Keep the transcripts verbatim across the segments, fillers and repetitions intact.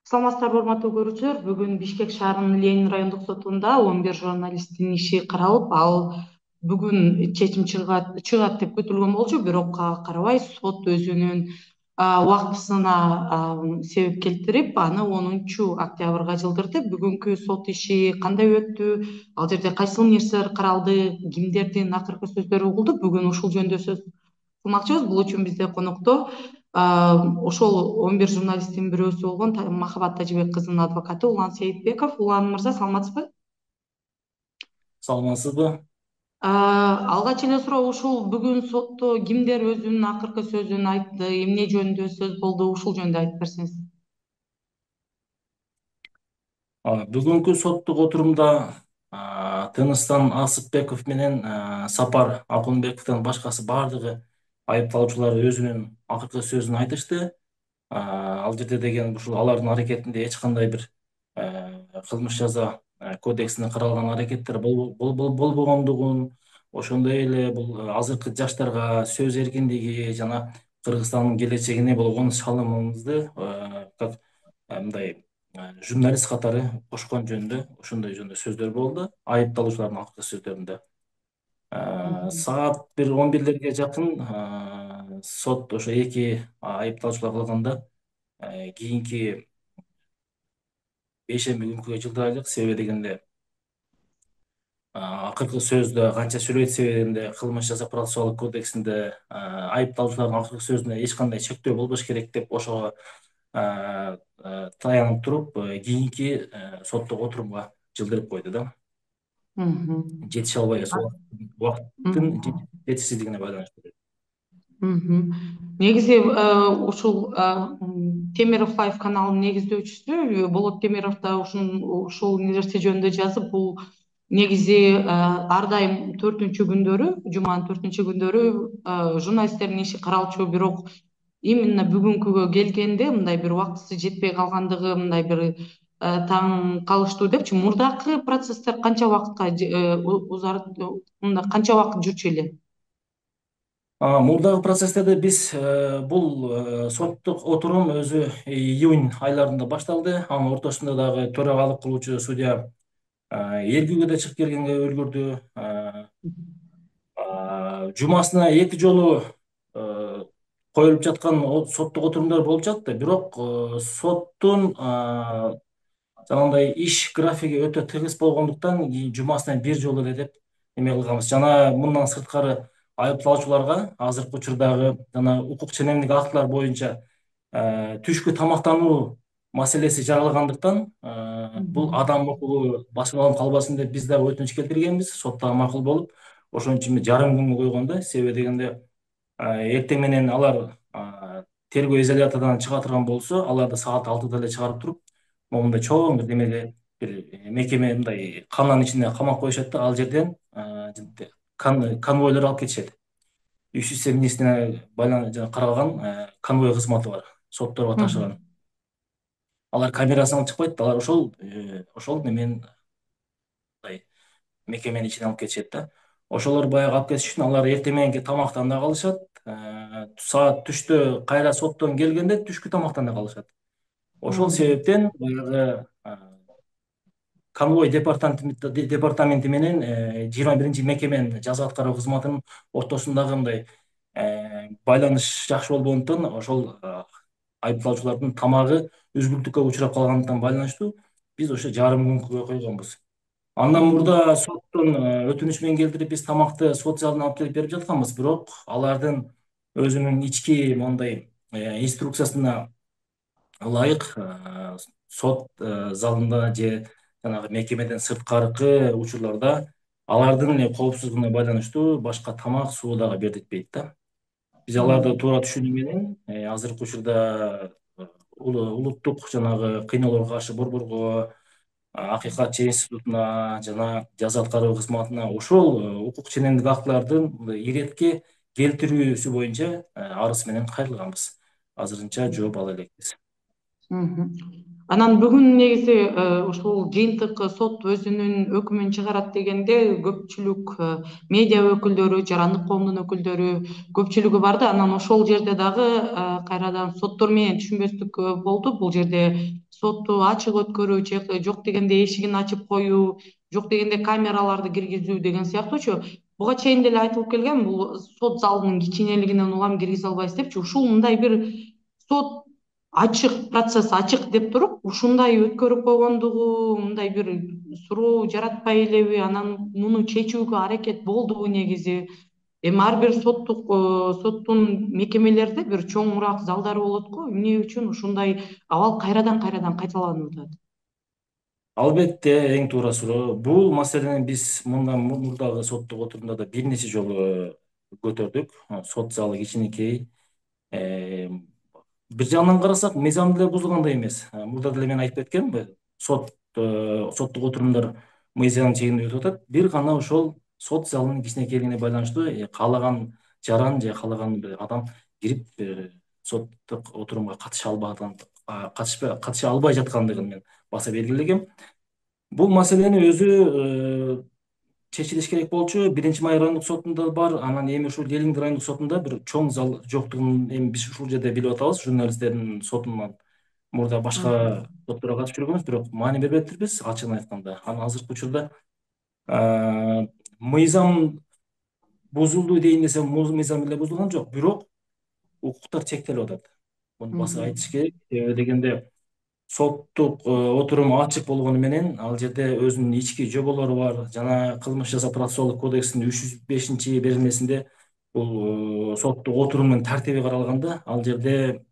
Саламатсыздарбы урматтуу көрүүчүлөр. Бүгүн Бишкек шаарынын Ленин райондук сотунда он бир журналисттин иши каралып, ал бүгүн чечим чыгат чыгат деп күтүлгөн болчу. Бирок ага карабай сот өзүнүн убактысына себеп келтирип, аны онунчу октябрга жылдырды. Бүгүнкү сот иши кандай өттү? Ал жерде кайсыл нерселер каралды? Кимдердин акыркы сөздөрү угулду? Бүгүн ушул жөнүндө сөз кылмакчыбыз. Бул үчүн бизде конокто ошол он бир журналисттин бирөөсү болгон Махабат Тажыбек кызынын адвокаты Улан Сейитбеков. Улан мырза, саламатсызбы? Саламатсызбы? Алгач эле суроо, ушул бүгүн сотто кимдер өзүнүн акыркы сөзүн айтты, эмне жөнүндө сөз болду, ушул жөнүндө айтып берсеңиз. Бүгүнкү соттук отурумда Тыныстан Асыпбеков менен Сапар Акунбековдон башкасы баардыгы айыпталуучулар өзүнүн акыркы сөзүн айтышты. Ал жерде деген ушул алардын аракетинде эч кандай бир кылмыш жаза кодексинде каралган аракеттер болбогондугун, ошондой эле бул азыркы жаштарга сөз эркиндиги жана Кыргызстандын келечегине болгон салымыбызды как мындай журналист катары кошкон жөнүндө ошондой жөнүндө сөздөр болду айыпталуучулардын акыркы сөздөрүндө. Саат бир он бирлерге жакын сот ошо эки айыпталуучуга калганда кийинки бейшемби күнкүгө жылдырайлык, себеби дегенде акыркы сөздө канча сүйлөйт, себеби дегенде кылмыш жаза процессуалдык кодексинде айыпталуучулардын акыркы сөзүнө эч кандай чектөө болбош керек деп ошого таянып туруп кийинки соттук отурумга жылдырып койду да. Жетише албай убакыттын жетишсиздигине байланыштуу. Негизи ушул Темиров Лайф каналынын негиздөөчүсү Болот Темиров да ушул нерсе жөнүндө жазып, бул негизи ар дайым төртүнчү күндөрү, жуманын төртүнчү күндөрү журналисттердин иши каралчу, бирок именно бүгүнкүгө келгенде мындай бир убактысы жетпей калгандыгы, мындай бир таң калыштуу депчи. Мурдакы процесстер канча убакытка мында канча убакыт жүрчү эле? Мурдагы процесстерде биз бул соттук отурум өзү июнь айларында башталды. Анын ортосунда дагы төрагалык кылуучу судья эргүүгө да чыгып келгенге үлгүрдү. Жумасына эки жолу коюлуп жаткан соттук отурумдар болуп жатты, бирок соттун жанагындай иш графиги өтө тыгыз болгондуктан жумасына бир жолу эле деп эме кылганбыз. Жана мындан сырткары айыпталуучуларга азыркы учурдагы жана укук ченемдик актылар боюнча түшкү тамактануу маселеси жаралгандыктан бул адам укугу басым алынып калбасын деп биз дагы өтүнүч келтиргенбиз. Сот дагы макул болуп, ошон үчүн жарым күнгө койгон да. Себеби дегенде эртең менен алар тергөө изоляторунан чыга турган болсо, аларды саат алтыда эле чыгарып туруп, момундай чоң бир немеге, бир мекеме мындай каманын ичине камап коюшат да, ал жерден конвойлор алып кетишет. үч жүз семьдесине байланыш каралган конвой кызматы бар, сотторго ташыган. Алар камерасынан чыкпайт, алар ошол ошол немен мекеменин ичине алып кетишет да. Ошолор баягы алып кетиш үчүн алар эртең мененки тамактан да калышат. Саат түштө кайра соттон келгенде түшкү тамактан да калышат. Ошол себептен баягы конвой департаменти менен жыйырма биринчи мекеменин жаза аткаруу кызматынын ортосундагы мындай байланыш жакшы болбогондуктан, ошол айыпталуучулардын тамагы үзгүлтүккө учурап калгандыктан байланыштуу биз ошо жарым күнгө койгонбуз. Андан мурда соттон өтүнүч менен келтирип биз тамакты сот залына алып келип берип жатканбыз, бирок алардын өзүнүн ички моундай инструкциясына ылайык сот залында же жанагы мекемеден сырткаркы учурларда алардын эле коопсуздугуна байланыштуу башка тамак, суу дагы берилбейт да. Биз аларды туура түшүнүү менен азыркы учурда улуттук жанагы кыйноолорго каршы борборго, Акыйкатчы институтуна жана жаза аткаруу кызматына ошол укук ченемдик актылардын иретке келтирүүсү боюнча арыз менен кайрылганбыз. Азырынча жооп ала элекпиз. Анан бүгүн негизи э, ушул жыйынтык сот өзүнүн өкүмүн чыгарат дегенде көпчүлүк э, медиа өкүлдөрү, жарандык коомдун өкүлдөрү көпчүлүгү бар да. Анан ошол жерде дагы э, кайрадан соттор менен түшүнбөстүк э, болду. Бул жерде сотту ачык өткөрүү, же- жок дегенде эшигин ачып коюу, жок дегенде камераларды киргизүү деген сыяктуучу. Буга чейин деле айтылып келген, бул сот залынын кичинелигинен улам киргизе албайбыз депчи. Ушул мындай бир сот ачык, процесс ачык деп туруп ушундай өткөрүп койгондугу мындай бир суроо жаратпай элеби? Анан муну чечүүгө аракет болдубу негизи? Эми ар бир соттук э, соттун мекемелерде бир чоңураак залдары болот го. Эмне үчүн ушундай абал кайрадан кайрадан кайталанып атат? Албетте, эң туура суроо. Бул маселени биз мындан мурдагы соттук отурумда да бир нече жолу көтөрдүк. Сот залы кичинекей. Э, Бир жагынан карасак, мыйзам деле бузулгандай эмес. Э, Мурда деле мен айтып кеткенмби? Сот, э, соттук отурумдар мыйзам чегинде өтүп атат. Бир гана ошол сот залынын кичинекейлигине байланыштуу э, каалаган жаран же каалаган бир адам кирип э, соттук отурумга катыша албаган, а, катышпай катыша албай жаткандыгын мен баса белгилегем. Бул маселени өзү э, чечилиш керек болчу. Биринчи май райондук сотунда бар, анан эми ушул Ленинград райондук сотунда бир чоң зал жоктугун эми биз ушул жерде билип атабыз, журналисттердин сотунан. Мурда башка Мгм. сотторго катышып жүргөнбүз, бирок маани бербеппирбиз ачыгын айтканда. Анан азыркы учурда э, мыйзам бузулду дейин десем, мыйзам эле бузулган жок, бирок укуктар чектелип атат. Муну баса Мгм. айтыш керек. Себеби дегенде соттук э, отурум ачык болгону менен ал жерде өзүнүн ички жоболору бар. Жана кылмыш жасоо процессуалдык кодекстин үч жүз бешинчи беренесинде бул э, соттук отурумдун тартиби каралганда, ал жерде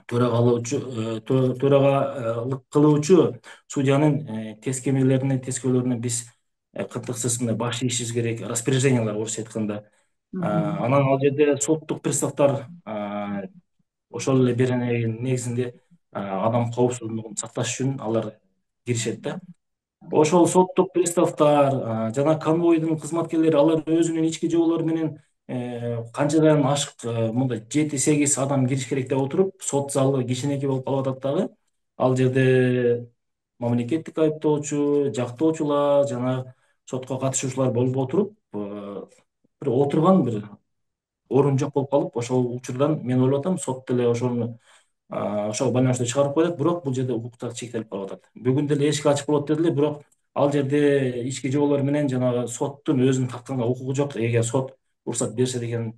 төрагалоочу э, тө- төрагалык кылуучу судьянын э, тескемелерине, тескөөлөрүнө биз э, кыртыксыз мындай баш ийишибиз керек, распоряжениялар орусча айтканда. А, Мгм. Анан ал жерде соттук приставдар а, ошол эле берененин негизинде а, адам коопсуздугун сакташ үчүн алар киришет да. Ошол соттук приставдар а, жана конвойдун кызматкерлери алар өзүнүн ички жоболору менен э, канчадан ашык э, мындай жети сегиз адам кириш керек деп отуруп, сот залы кичинекей болуп калып атат дагы. Ал жерде мамлекеттик айыптоочу, жактоочулар жана сотко катышуучулар болуп отуруп, э, бир отурган бир орун жок болуп калып, ошол учурдан мен ойлоп атам сот деле ошону а, ошого байланыштуу чыгарып коет, бирок бул жерде укуктар чектелип калып атат. Бүгүн деле эшик ачык болот дедиле, бирок ал жерде ички жоболор менен жанагы соттун өзүнүн тактанга укугу жок. Эгер сот уруксат берсе деген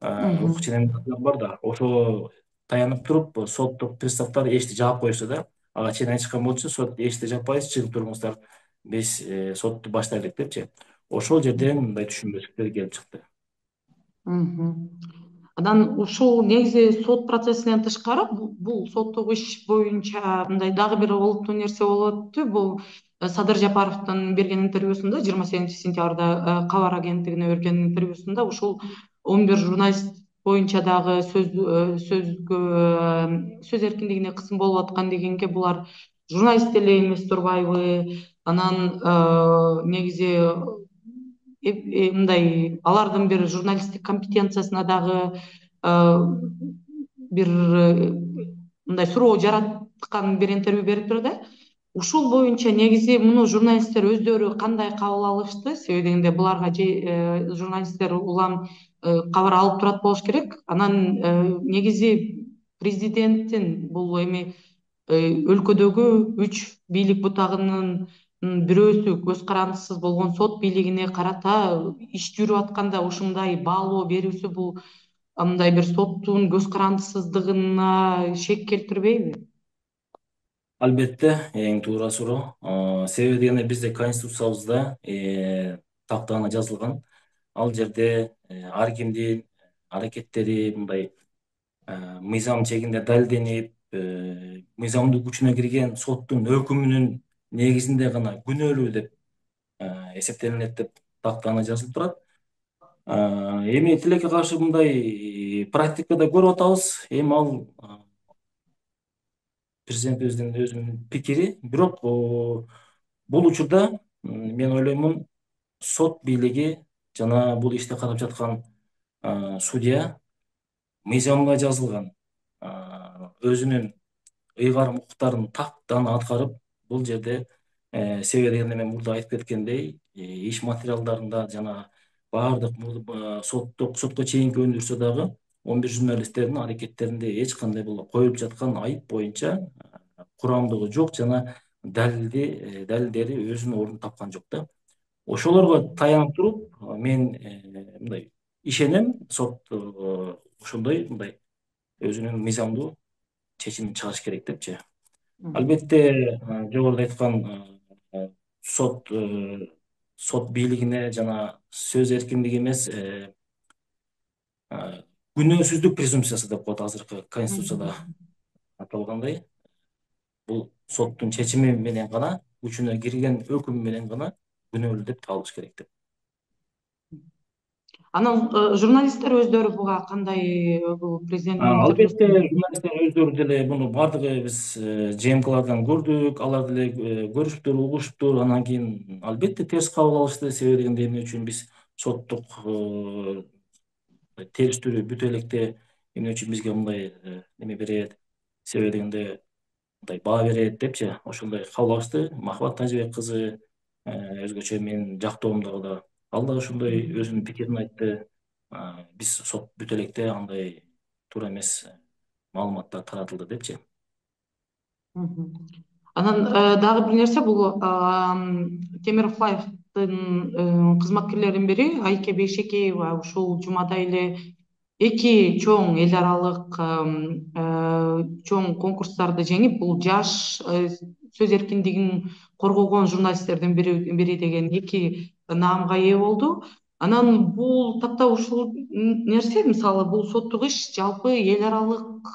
а, укук Мгм. ченемдик бар да, ошого таянып туруп соттук приставдар эшикти жаап коюшты да. Ага чейин айтышкан болчу, сот эшикти жаппайбыз, чыгып туруңуздар, биз э, сотту баштайлык депчи. Ошол жерден мындай түшүнбөстүктөр келип чыкты. Мгм. Анан ушул негизи сот процессинен тышкары бу- бул соттук иш боюнча мындай дагы бир олуттуу нерсе болуп атты. Бул э, Садыр Жапаровдун берген интервьюсунда, жыйырма сегизинчи сентябрда э, Кабар агенттигине берген интервьюсунда ушул он бир журналист боюнча дагы сөз э, сөзгө э, сөз эркиндигине кысым болуп аткан дегенге, булар журналист деле эмес турбайбы? Анан э, негизи э, э, мындай алардын бир журналисттик компетенциясына дагы э, бир э, мындай суроо жараткан бир интервью бериптир да. Ушул боюнча негизи муну журналисттер өздөрү кандай кабыл алышты? Себеби дегенде буларга же э, журналисттер улам э, кабар алып турат болуш керек. Анан э, негизи президенттин бул эми э, өлкөдөгү үч бийлик бутагынын м, бирөөсү көз карандысыз болгон сот бийлигине карата иш жүрүп атканда ушундай баалоо берүүсү, бул а, мындай бир соттун көз карандысыздыгына шек келтирбейби? Албетте, эң туура суроо. А, Себеби дегенде бизде конституциябызда э, тактагана жазылган. Ал жерде э, ар кимдин аракеттери мындай э, мыйзам чегинде далилденип, э, мыйзамдуу күчүнө кирген соттун өкүмүнүн негизинде гана күнөөлүү деп э, эсептелинет деп тактагана жазылып турат. А, Эми тилекке каршы мындай практикада көрүп атабыз. Эми ал президентибиздин өзүнүн пикири, бирок о, бул учурда м, мен ойлоймун сот бийлиги жана бул ишти карап жаткан а, судья мыйзамга жазылган а, өзүнүн ыйгарым укуктарын тактан аткарып, бул жерде себеби дегенде мен мурда айтып кеткендей, иш материалдарында жана баардык соттук сотко чейинки өндүрүштө дагы он бир журналисттердин аракеттеринде эч кандай бул коюлуп жаткан айып боюнча курамдыгы жок жана далилди далилдери өзүнүн ордун тапкан жок да. Ошолорго таянып туруп, мен мындай ишенем, сот ошондой мындай өзүнүн мыйзамдуу чечимин чыгарыш керек депчи. Албетте, жогоруда айткан сот сот бийлигине жана сөз эркиндиги эмес, күнөөсүздүк презумпциясы деп коет азыркы Конституцияда аталгандай. Бул соттун чечими менен гана, күчүнө кирген өкүм менен гана күнөөлүү деп табылыш керек деп. Анан журналисттер өздөрү буга кандай бул президенттин Албетте, журналисттер өздөрү деле муну баардыгы биз ЖМКлардан көрдүк, алар деле көрүшүптүр, угушуптур. Анан кийин албетте терс кабыл алышты. Себеби дегенде эмне үчүн биз соттук териштирүү бүтө электе эмне үчүн бизге мындай неме берет, себеби дегенде мындай баа берет депчи, ошондой кабыл алышты. Махабат Тажыбек кызы өзгөчө менин жактоомдогу да, ал да ошондой өзүнүн пикирин айтты. Биз сот бүтө электе андай туура эмес маалыматтар таратылды депчи. Анан дагы бир нерсе, бул Темирбаевдин кызматкерлеринин бири Айке Бейшекеева ушул жумада эле эки чоң эл аралык чоң конкурстарды жеңип, бул жаш сөз эркиндигин коргогон журналисттердин бири деген эки наамга ээ болду. Анан бул таптап ушул нерсе, мисалы бул соттук иш жалпы эл аралык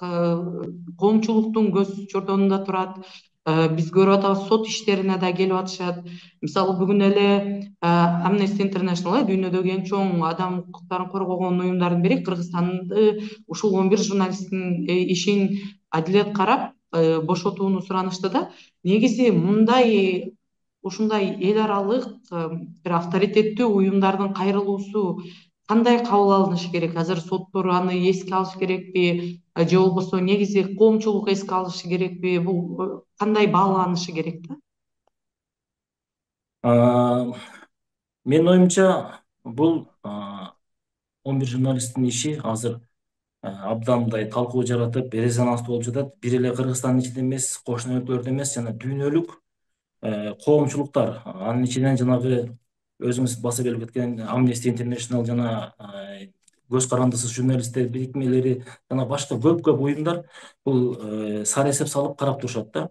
коомчулуктун көз чордонунда турат. Биз көрүп атабыз, сот иштерине да келип атышат. Мисалы бүгүн эле Amnesty International, дүйнөдөгү эң чоң адам укуктарын коргогон уюмдардын бири, Кыргызстанды ушул он бир журналисттин ишин адилет карап бошотууну суранышты да. Негизи мындай ушундай эл аралык бир авторитеттүү уюмдардын кайрылуусу кандай кабыл алынышы керек? Азыр соттор аны эске алыш керекпи, же болбосо негизи коомчулук эске алышы керекпи? Бул кандай бааланышы керек да? Менин оюмча, бул он бир журналисттин иши азыр абдан мындай талкуу жаратып, резонанстуу болуп жатат. Бир эле Кыргызстандын ичинде эмес, кошуна өлкөлөрдө эмес, жана дүйнөлүк коомчулуктар, анын ичинен жанагы өзүңүз баса белип кеткен Amnesty International жана көз карандысыз журналисттер бирикмелери жана башка көп-көп уюмдар бул сара эсеп салып карап турушат да.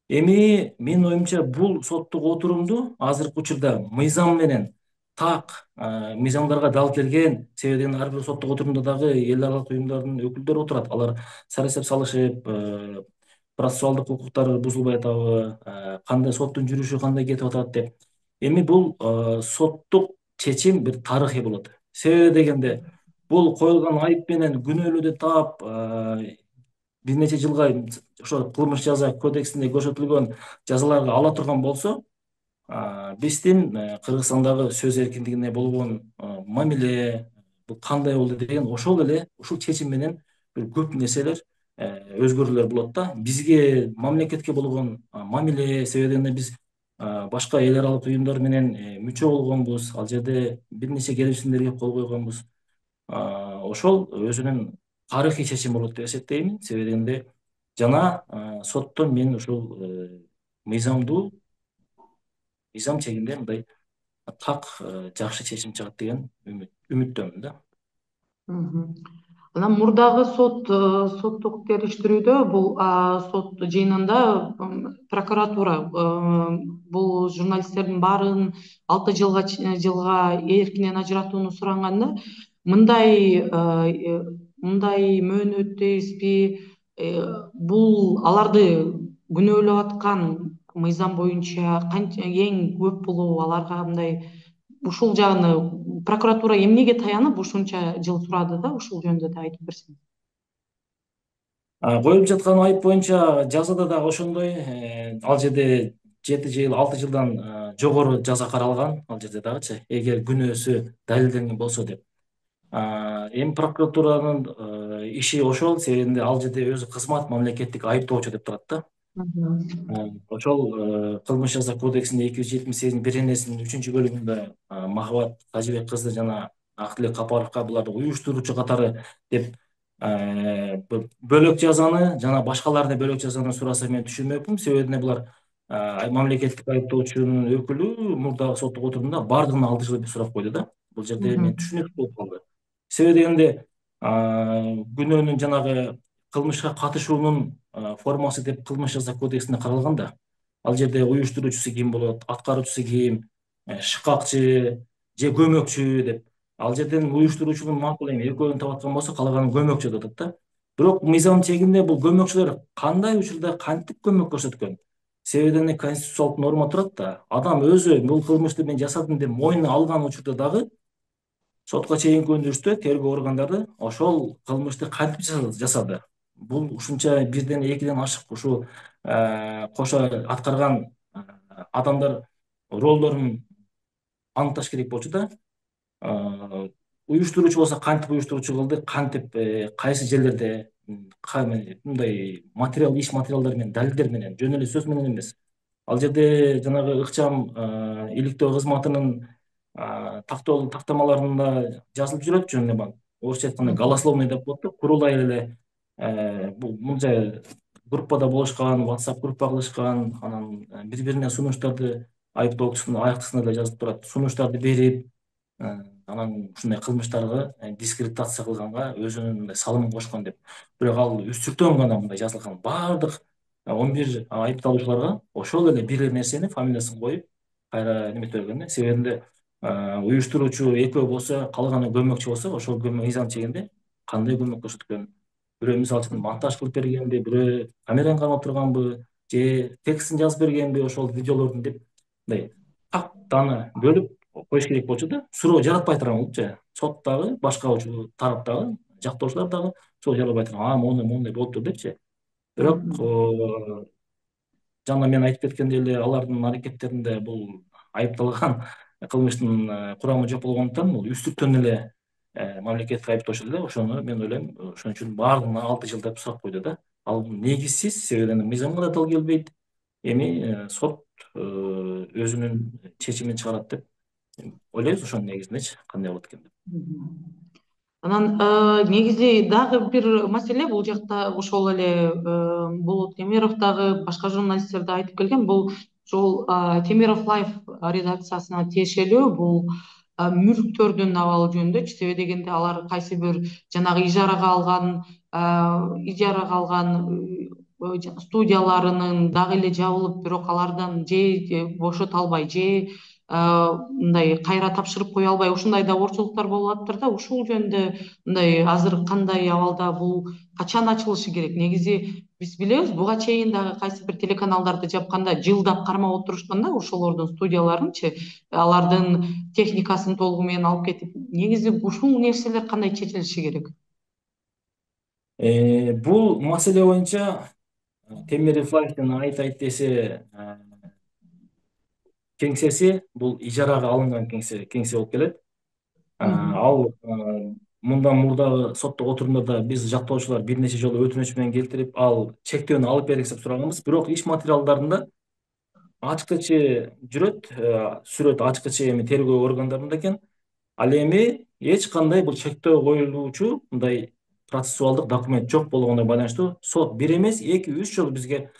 Эми менин оюмча, бул соттук отурумду азыркы учурда мыйзам менен так мыйзамдарга дал келген, себеби дегенде ар бир соттук отурумда дагы эл аралык уюмдардын өкүлдөрү отурат. Алар сара эсеп салышып, процессуалдык укуктары бузулбай атабы, кандай соттун жүрүшү кандай кетип атат деп. Эми бул соттук чечим бир тарыхый болот. Себеби дегенде бул коюлган айып менен күнөөлүүдү таап бир нече жылга ошо кылмыш жаза кодексинде көрсөтүлгөн жазаларга ала турган болсо, биздин Кыргызстандагы сөз эркиндигине болгон мамиле бул кандай болду деген ошол эле ушул чечим менен көп нерселер өзгөрүүлөр болот да. Бизге мамлекетке болгон мамиле, себеби дегенде биз башка эл аралык уюмдар менен мүчө болгонбуз, ал жерде бир нече келишимдерге кол койгонбуз. Ошол өзүнүн тарыхый чечим болот деп эсептейм. Себеби дегенде жана соттон мен ушул мыйзамдуу мыйзам чегинде мындай так жакшы чечим чыгат деген үмүттөмүн да. Анан мурдагы сот соттук териштирүүдө бул сот жыйынында прокуратура бул журналисттердин баарын алты жылга жылга эркинен ажыратууну суранганда, мындай мындай мөөнөт дейсизби? Бул аларды күнөөлөп аткан мыйзам боюнча канча эң көп болобу аларга? Мындай ушул жагын прокуратура эмнеге таянып ушунча жыл сурады да, ушул жөнүндө да айтып берсеңиз. Коюлуп жаткан айып боюнча жазада дагы ошондой. Ал жерде жети жыл, алты жылдан жогору жаза каралган, ал жерде дагычы, эгер күнөөсү далилденген болсо деп. Эми прокуратуранын иши ошол, себебинде ал жерде өзү кызмат мамлекеттик айыптоочу деп турат да. Ошол Кылмыш жаза кодексинде эки жүз жетимиш сегизинин бир энесинин үчүнчү бөлүгүндө Махабат Тажыбек кызы жана Актилек Капаровго буларды уюштуруучу катары деп бөлөк жазаны жана башкалардан бөлөк жазаны сураса мен түшүнмөкмүн. Себебинде булар мамлекеттик айыптоочунун өкүлү мурдагы соттук отурумда бардыгына алты жыл деп сурап койду да. Бул жерде мен түшүнүксүз болуп калды. Себеби дегенде күнөөнүн жанагы кылмышка катышуунун формасы деп Кылмыш жаза кодексинде каралган да. Ал жерде уюштуруучусу ким болот, аткаруучусу ким, шыкакчы же көмөкчү деп. Ал жерден уюштуруучунун макул эми экөөнү таап аткан болсо, калганын көмөкчү деп атат да. Бирок мыйзам чегинде бул көмөкчүлөр кандай учурда кантип көмөк көрсөткөн? Себебинде конституциялык норма турат да. Адам өзү бул кылмышты мен жасадым деп мойнуна алган учурда дагы сотко чейинки өндүрүштө тергөө органдары ошол кылмышты кантип жасады? Бул ушунча бирден экиден ашык ушул кошо аткарган адамдар ролдорун аныкташ керек болчу да. Уюштуруучу болсо кантип уюштуруучу кылды, кантип кайсы жерлерде мындай материал, иш материалдар менен, далилдер менен, жөн эле сөз менен эмес. Ал жерде жанагы ыкчам иликтөө кызматынын тактоо тактамаларында жазылып жүрөт, жөн эле орусча айтканда голословный деп коет да, курулай эле бул мынча группада болушкан, WhatsApp группа кылышкан, анан бири бирине сунуштарды айыптоочусунун аяктысына эле жазылып турат. Сунуштарды берип, анан ушундай кылмыштарга дискредитация кылганга өзүнүн мындай салымын кошкон деп. Бирок ал үстүртөн гана мындай жазылган. Баардык он бир айыпталуучуларга ошол эле бир нерсени, фамилиясын коюп кайра неметип берген. Себебинде уюштуруучу экөө болсо, калганы көмөкчү болсо, ошол мыйзам чегинде кандай көмөк көрсөткөн? Бирөө мисалы үчүн монтаж кылып бергенби, бирөө камераны кармап турганбы, же текстин жазып бергенби ошол видеолордун деп мындай так даны бөлүп коюш керек болчу да. Суроо жаратпай турган болчу. Сот дагы, башка тарап дагы, жактоочулар дагы суроо жаратпай турган. А моундай моундай болуптур депчи. Бирок жана мен айтып кеткендей эле алардын аракеттеринде бул айыпталган кылмыштын курамы жок болгондуктан бул үстүртөн эле мамлекеттик айыптоочу эле ошону мен ойлойм ошон үчүн баардыгына алты жыл деп сурап койду да. Ал негизсиз, себебинде мыйзамга да дал келбейт. Эми сот өзүнүн чечимин чыгарат деп ойлойбуз, ошонун негизиндечи кандай болот экен деп. Анан негизи дагы бир маселе бул жакта ошол эле Болот Темиров дагы башка журналисттер да айтып келген, бул ошол Темиров Лайф редакциясына тиешелүү бул мүлктөрдүн абалы жөнүндөчү. Себеби дегенде алар кайсы бир жанагы ижарага алган ижарага алган студияларынын дагы эле жабылып, бирок алардан же бошото албай, же мындай кайра тапшырып кое албай, ушундай да орчулуктар болуп атыптыр да. Ушул жөнүндө мындай азыр кандай абалда, бул качан ачылышы керек? Негизи биз билебиз, буга чейин дагы кайсы бир телеканалдарды жапканда жылдап кармап отурушкан да ошолордун студияларынчы, алардын техникасын толугу менен алып кетип. Негизи ушул нерселер кандай чечилиши керек? Бул маселе боюнча Темиров Лайфтын айт айт десе кеңсеси бул ижарага алынган кеңсе кеңсе болуп келет. Ал мындан мурдагы соттук отурумда биз жактоочулар бир нече жолу өтүнүч менен келтирип, ал чектөөнү алып бериңиз деп сураганбыз. Бирок иш материалдарында ачкычы жүрөт, сүрөт ачкычы эми тергөө органдарында экен. Ал эми эч кандай бул чектөө коюлуучу мындай процессуалдык документ жок болгондо байланыштуу сот бир эмес, эки, үч жолу бизге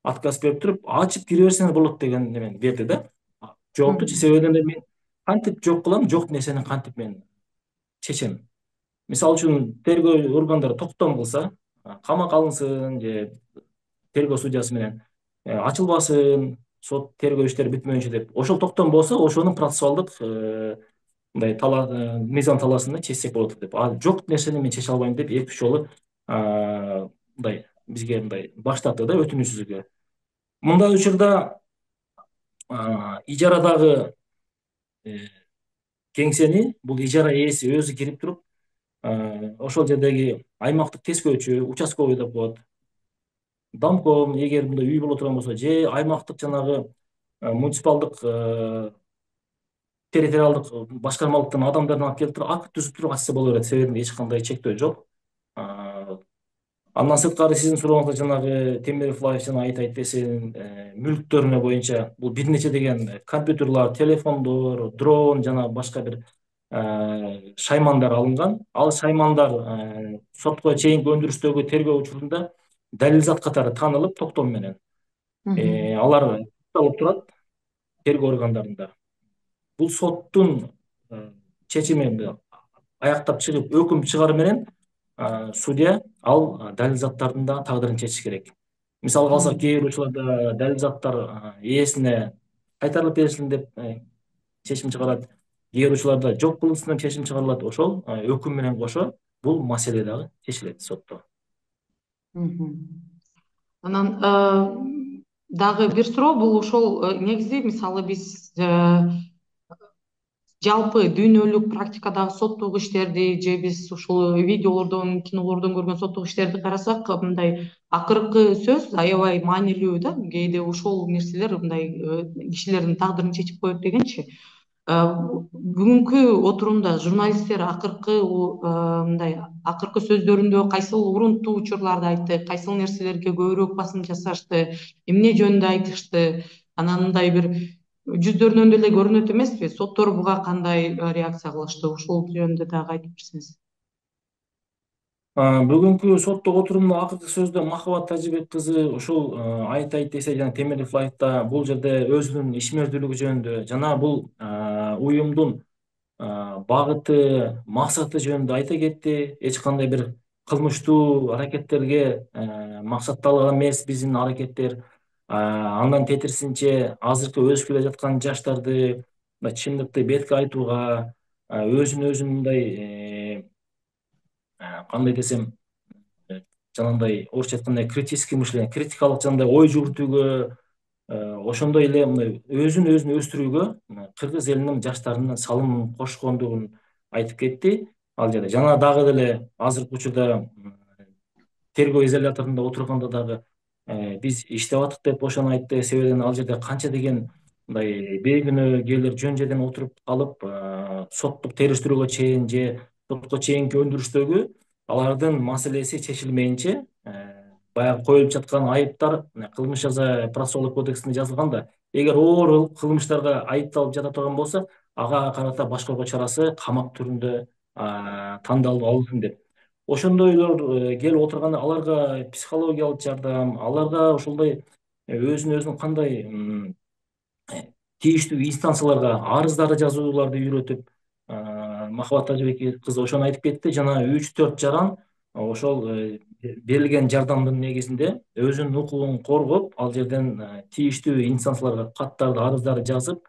отказ берип туруп, ачып кире берсеңиз болот деген немени берди да. Жооптучу, себебинде мен кантип жок кылам, жок нерсени кантип мен чечем. Мисалы үчүн тергөө органдары токтом кылса, камакка алынсын же тергөө судьясы менен ачылбасын, сот тергөө иштери бүтмөйүнчө деп, ошол токтом болсо, ошонун процессуалдык мындай мыйзам талаасында чечсек болот деп. А жок нерсени мен чече албайм деп эки үч жолу мындай бизге мындай баштатты да өтүнүчүбүзгө. Мындай учурда ижарадагы кеңсени бул ижара ээси өзү кирип туруп, ошол жердеги аймактык тескөөчү, участковый деп коет, домком, эгер мындай үй боло турган болсо, же аймактык жанагы муниципалдык территориалдык башкармалыктын адамдарын алып келип туруп акт түзүп туруп ачса боло берет. Себеби эч кандай чектөө жок. Андан сырткары сиздин сурооңузда жанагы Темиров Лайф жана Айт Десен мүлктөрүнө боюнча бул бир нече деген компьютерлар, телефондор, дрон жана башка бир шаймандар алынган. Ал шаймандар сотко чейинки өндүрүштөгү тергөө учурунда далил зат катары таанылып, токтом менен алар алып турат тергөө органдарында. Бул соттун чечими аяктап чыгып, өкүм чыгары менен судья ал далил заттардын да тагдырын чечиш керек. Мисалга алсак, кээ бир учурларда далил заттар ээсине кайтарылып берилсин деп чечим чыгарат. Кээ бир учурларда жок кылынсын деп чечим чыгарылат. Ошол өкүм менен кошо бул маселе дагы чечилет сотто. Анан дагы бир суроо, бул ошол негизи мисалы биз жалпы дүйнөлүк практикадагы соттук иштерди же биз ушул видеолордон, кинолордон көргөн соттук иштерди карасак, мындай акыркы сөз аябай маанилүү да. Кээде ошол нерселер мындай кишилердин тагдырын чечип коет дегенчи. Бүгүнкү отурумда журналисттер акыркы мындай акыркы сөздөрүндө кайсыл урунттуу учурларды айтты, кайсыл нерселерге көбүрөөк басым жасашты, эмне жөнүндө айтышты, анан мындай бир жүздөрүнөн деле көрүнөт эмеспи? Соттор буга кандай реакция кылышты? Ушул жөнүндө дагы айтып берсеңиз. Бүгүнкү соттук отурумдун акыркы сөздө Махабат Тажибек кызы ушул Айт Айт Десе жана Темиров Лайфта бул жерде өзүнүн ишмердүүлүгү жөнүндө жана бул уюмдун багыты, максаты жөнүндө айта кетти. Эч кандай бир кылмыштуу аракеттерге максатталган эмес биздин аракеттер. Андан тетирисинче азыркы өсүп келе жаткан жаштарды чындыкты бетке айтууга, өзүн өзүн мындай кандай десем, жанагындай орусча айткандай критический мышление, критикалык жандай ой жүгүртүүгө, ошондой эле мындай өзүн өзүн өстүрүүгө кыргыз элинин жаштарына салым кошкондугун айтып кетти ал жерде. Жана дагы деле азыркы учурда тергөө изоляторунда отурганда дагы биз иштеп аттык деп ошону айтты. Себебинен ал жерде канча деген мындай бейкүнөө кээделер жөн жерден отуруп калып, соттук териштирүүгө чейин же сотко чейинки өндүрүштөгү алардын маселеси чечилмейинче баягы коюлуп жаткан айыптар кылмыш жаза процессуалдык кодексинде жазылган да, эгер оор кылмыштарга айыпталып жата турган болсо, ага карата баш койгон чарасы камак түрүндө тандалып алынсын деп. Ошондойлор келип отурганда аларга психологиялык жардам, аларга ошолдой өзүн өзүн кандай тийиштүү инстанцияларга арыздарды жазууларды үйрөтүп, Махабат Тажибек кызы ошону айтып кетти. Жана үч төрт жаран ошол берилген жардамдын негизинде өзүнүн укугун коргоп, ал жерден тийиштүү инстанцияларга каттарды, арыздарды жазып,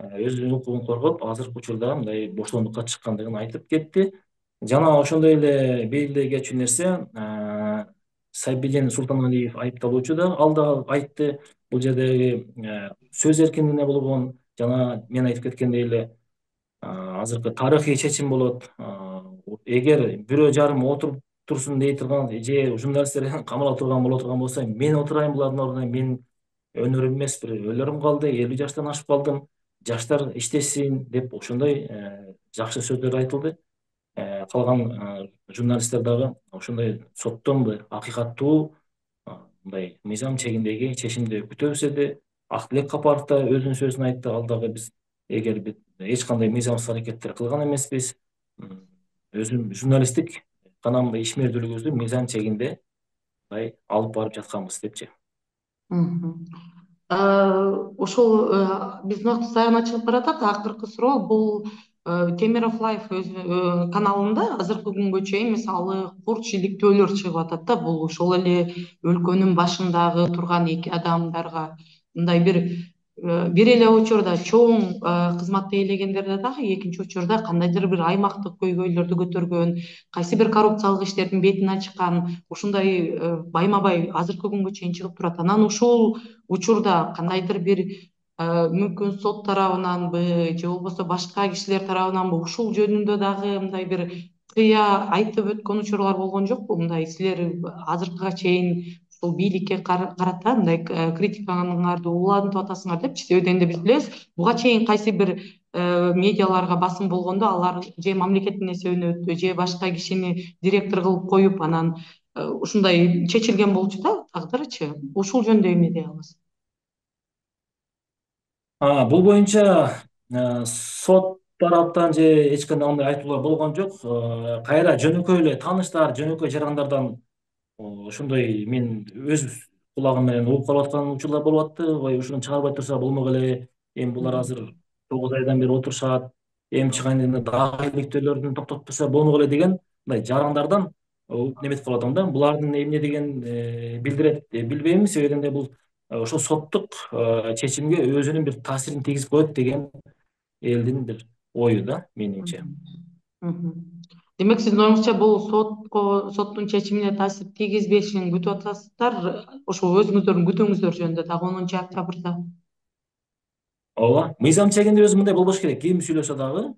өзүнүн укугун коргоп, азыркы учурда мындай боштондукка чыккандыгын айтып кетти. Жана ошондой эле бейилдей кетчү нерсе, Сайбидин Султаналиев айыпталуучу да ал да айтты. Бул жердеги сөз эркиндигине болгон жана мен айтып кеткендей эле азыркы тарыхый чечим болот. Эгер бирөө жарым отуруп турсун дей турган же журналисттер камала турган боло турган болсо, мен отурайын булардын ордуна, мен өнөрүм эмес, бир өлөрүм калды, элүү жаштан ашып калдым, жаштар иштесин деп ошондой жакшы сөздөр айтылды. Калган журналисттер дагы ошондой соттон акыйкаттуу мындай мыйзам чегиндеги чечимди күтөбүз деди. Актылек Капаров да өзүнүн сөзүн айтты. Ал дагы биз эгер эч кандай мыйзамсыз аракеттер кылган эмеспиз, өзүн журналисттик гана мындай ишмердүүлүгүбүздү мыйзам чегинде мындай алып барып жатканбыз депчи. Ошол биздин убактыбыз аягына чыгып баратат. Акыркы суроо бул Темиров Лайф өз каналында азыркы күнгө чейин мисалы курч иликтөөлөр чыгып атат да. Бул ошол эле өлкөнүн башындагы турган эки адамдарга мындай бир бир эле учурда чоң кызматты ээлегендерде дагы экинчи учурда кандайдыр бир аймактык көйгөйлөрдү көтөргөн, кайсы бир коррупциялык иштердин бетин ачкан, ушундай байма бай азыркы күнгө чейин чыгып турат. Анан ушул учурда кандайдыр бир мүмкүн сот тарабынанбы же болбосо башка кишилер тарабынанбы ушул жөнүндө дагы мындай бир кыя айтып өткөн учурлар болгон жокпу? Мындай силер азыркыга чейин ушул бийликке карата мындай критикаңарды улантып атасыңар депчи. Себеби дегенде биз билебиз, буга чейин кайсы бир медиаларга басым болгондо алар же мамлекеттин эсебине өтүп же башка кишини директор кылып коюп анан ушундай чечилген болчу да тагдырычы. Ушул жөнүндө эмне дей аласыз? Бул боюнча сот тараптан же эч кандай андай айтуулар болгон жок. Кайра жөнөкөй эле тааныштар, жөнөкөй жарандардан ошондой мен өз кулагым менен угуп калып аткан учурлар болуп атты. Ой, ушуну чыгарбай турса болмок эле. Эми булар азыр тогуз айдан бери отурушат. Эми чыгайын дагы иликтөөлөрдүн токтотуп турса болмок эле деген мындай жарандардан угуп неметип калып атам да. Булардын эмне деген билдирет билбейм. Себеби дегенде бул ошол соттук чечимге өзүнүн бир таасирин тийгизип коет деген элдин бир ою да менимче. Демек сиздин оюңузча бул сотко соттун чечимине таасир тийгизбешин күтүп атасыздар, ошо өзүңүздөрдүн күтүүңүздөр жөнүндө дагы онунчу октябрда. Ооба, мыйзам чегинде өзү мындай болбош керек. Ким сүйлөсө дагы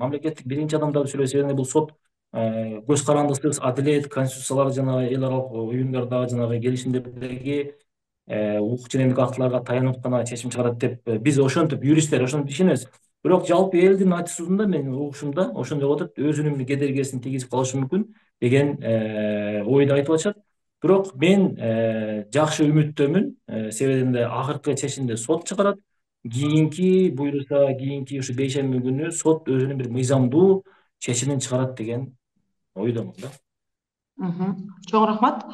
мамлекеттик биринчи адамдар сүйлөсө дагы бул сот көз карандысыз, адилет, конституциялар жана эл аралык уюмдардагы жанагы келишимдердеги укук жөнүндөгү актыларга таянып гана чечим чыгарат деп биз ошентип юристтер ошентип ишенебиз. Бирок жалпы элдин айтышуусунда менин угушумда ошондой болуп атат, өзүнүн кедергисин тийгизип калышы мүмкүн деген ойду айтып атышат. Бирок мен жакшы үмүттөмүн, себебинде акыркы чечимди сот чыгарат. Кийинки буюрса, кийинки ушу бейшемби күнү сот өзүнүн бир мыйзамдуу чечимин чыгарат деген ойдомун да. Чоң рахмат.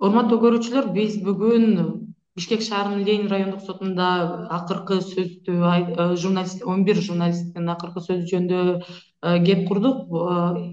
Урматтуу көрүүчүлөр, биз бүгүн Бишкек шаарынын Ленин райондук сотунда акыркы сөздү журналист он бир журналисттин акыркы сөзү жөнүндө кеп курдук.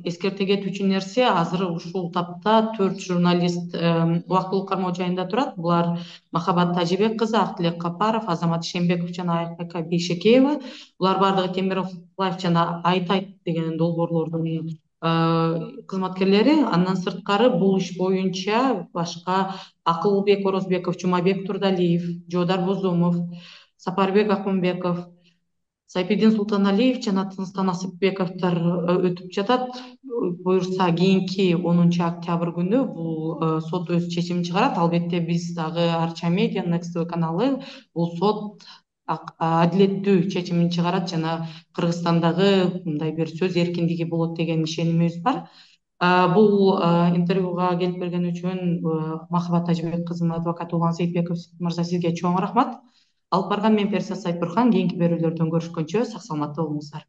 Эскерте кетүүчү нерсе, азыр ушул тапта төрт журналист убактылуу кармоо жайында турат. Булар Махабат Тажибек кызы, Актилек Капаров, Азамат Шембеков жана Айка Бейшекеева. Булар бардыгы Темиров Лайф жана Айтайт деген долбоорлордун кызматкерлери. Андан сырткары бул иш боюнча башка Акылбек Орозбеков, Жумабек Турдалиев, Жоодар Бозумов, Сапарбек Акмамбеков, Сайпидин Султаналиев жана Тыныстан Асыпбековдор өтүп жатат. Буюрса кийинки онунчу октябрь күнү бул сот өз чечимин чыгарат. Албетте биз дагы Арча Медиа, Next T V каналы бул сот адилеттүү чечимин чыгарат жана Кыргызстандагы мындай бир сөз эркиндиги болот деген ишенимибиз бар. Бул интервьюга келип берген үчүн Махабат Тажибек кызынын адвокаты Улан Сейитбеков мырза, сизге чоң рахмат. Алып барган мен Перса Сайпурхан. Кийинки берүүлөрдөн көрүшкөнчө сак саламатта болуңуздар.